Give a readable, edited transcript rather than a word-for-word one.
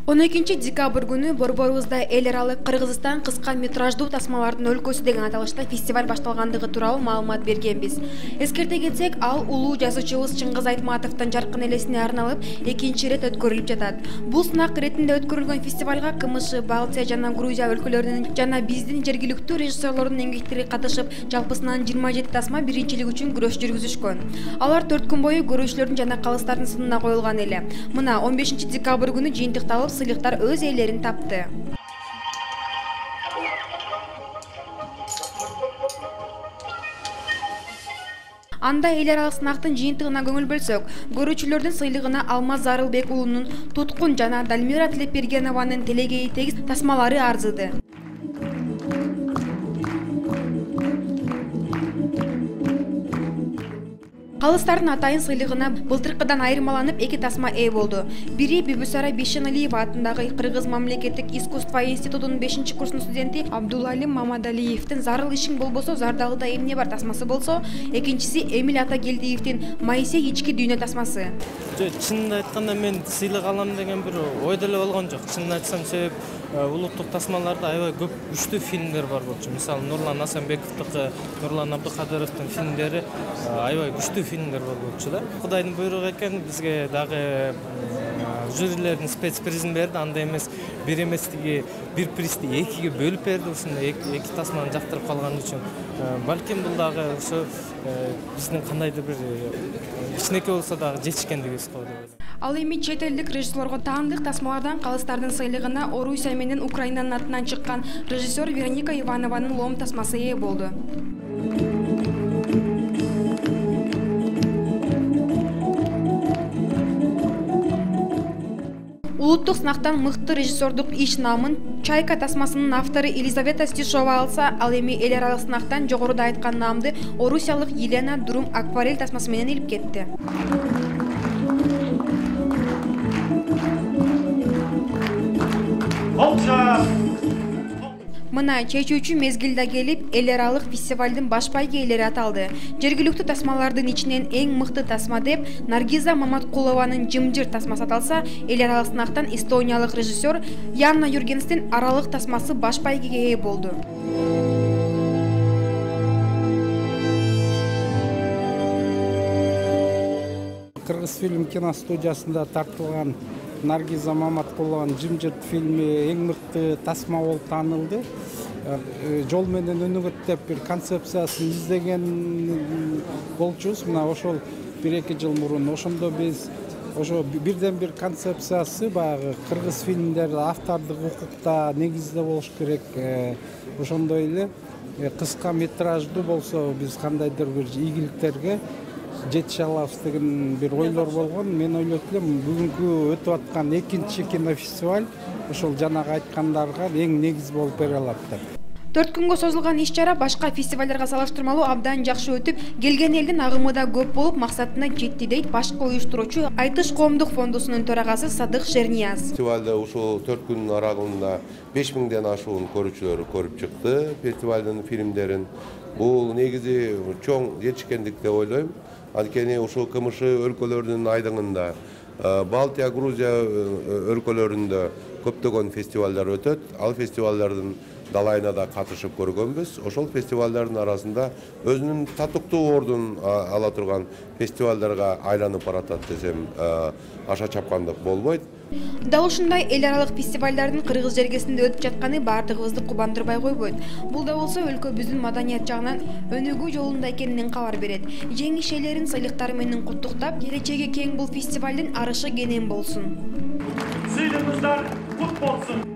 12 декабрь күнү Борборубузда эл аралык Кыргызстан кыска метраждуу тасмалардын өлкөсү деген аталышта фестиваль башталгандыгы тууралуу маалымат бергенбиз. Эскерте кетсек, ал улуу жазуучубуз Чыңгыз Айтматовдун жаркын элесине арналып, экинчи ирет өткөрүлүп жатат. Бул сынак иретинде өткөрүлгөн фестивалга КМШ, Балтия жана Грузия өлкөлөрүнүн жана биздин жергиликтүү режиссерлордун эмгектери катышып, жалпысынан 27 тасма биринчилик үчүн күрөш жүргүзүшкөн. Алар 4 күн бою көрүүчүлөрдүн жана калыстардын сынына коюлган эле. Мына 15 декабрь күнү жыйынтыкталып, сыйлыктар өз ээлерин тапты. Анда эл аралык сынактын жыйынтыгына көңүл бөлсөк, көрүүчүлөрдүн сыйлыгына Алмаз Зарылбек уулунун Туткун жана Далмира Тилепбергенованын Телегейи тегиз тасмалары арзыды. Калыстардын атайын сыйлыгына былтыркыдан айырмаланып 2 тасма ээ болду. Бири Бибисара Бишеналиева атындагы Кыргыз мамлекеттик искусство институтунун 5-курсунун студенти Абдулалим Мамадалиевдин Зарыл ишиң болбосо Зардалыда эмне бар тасмасы болсо, экинчиси Эмил Атагелдиевдин Моисей ички дүйнө тасмасы. Чынын айтканда мен сыйлык алам деген бир ойдо эле болгон жок. Чынын айтсам, себеп улуттук тасмаларда аябай көп күчтүү фильмдер бар болчу. Мисалы Нурлан Асанбековдуку, Нурлан Абдыкадыровдун фильмдери аябай күчтүү фильмдер болчу да. Кудайдын буйругу экен, бизге дагы жюрилердин спецпризин берди. Андай эмес, бир эместиги бир призди 2-ге бөлүп берди. Ушундай 2 тасманы жактырып калган үчүн. Балким бул дагы ошо биздин кандайдыр бир кичинекей болсо дагы жетишкендигибиз го деп ойлойм. Ал эми чет элдик режиссерлорго таандык тасмалардан калыстардын сыйлыгына Орусия менен Украинанын атынан чыккан режиссер Вероника Иванованын Лом тасмасы ээ болду. Улуттук сынактан мыкты режиссердук иш намын Чайка тасмасынын автору Елизавета Стишова алса, ал эми эл аралык сынактан жогоруда айткан наамды орусиялык Елена Дурум акварель тасмасы менен илип кетти. Мына чечүүчү мезгилде келип, эл аралык фестивалдын баш байгээлери аталды. Жергиликтүү тасмалардын ичинен эң мыкты тасма деп Наргиза Маматкулованын Жымжыр тасмасы аталса, эл аралык сынактан эстониялык режиссер Яна Юргенстин Аралык тасмасы баш байгеге ээ болду. Кыргыз фильм киностудиясында тартылган Наргиза Маматкулованын Жымжыр фильми эң мыкты тасма болуп таанылды. Жол менен өнүгөт деп бир концепциясын издеген болчубуз. Мына ошол 1-2 жыл мурун ошондо биз ошо бирден бир концепциясы баягы кыргыз фильмдер автордук укукта негизде болуш керек. Ошондой эле кыска метраждуу болсо биз кандайдыр бир ийгиликтерге жетише алабыз деген бир ойлор болгон. Мен ойлойт элем, бүгүнкү өтүп аткан экинчи кинофестиваль ошол жанагы айткандарга эң негиз болуп бере алат деп. 4 күнгө созулган иш-чара башка фестивалдарга салыштырмалуу абдан жакшы өтүп, келген элдин агымы да көп болуп, максатына жетти дейт башкы уюштуруучу Айтыш коомдук фондусунун төрагасы Садык Шернияз. Фестивалда ушул 4 күн аралыгында 5000ден ашуун көрүүчүлөр көрүп чыкты фестивалдын фильмдерин. Бул негизи чоң жетишкендик деп ойлойм. Анткени ушул КМШ өлкөлөрүнүн айдыңында, Балтия, Грузия өлкөлөрүндө көптөгөн фестивалдар өтөт. Ал фестивалдардын далайына да катышып көргөнбүз. Ошол фестивалдардын арасында өзүнүн татыктуу ордун ала турган фестивалдарга айланып баратат десем аша чапкандык болбойт. Дал ушундай эл аралык фестивалдардын Кыргыз жергесинде өтүп жатканы баардыгыбызды кубандырбай койбойт. Бул да болсо өлкөбүздүн маданият жагынан өнүгүү жолунда экенинен кабар берет. Жеңиш ээлерин сыйлыктары менен куттуктап, келечеги кең бул фестивалдын арышы кенен болсун. Сыйлыгыңыздар кут болсун.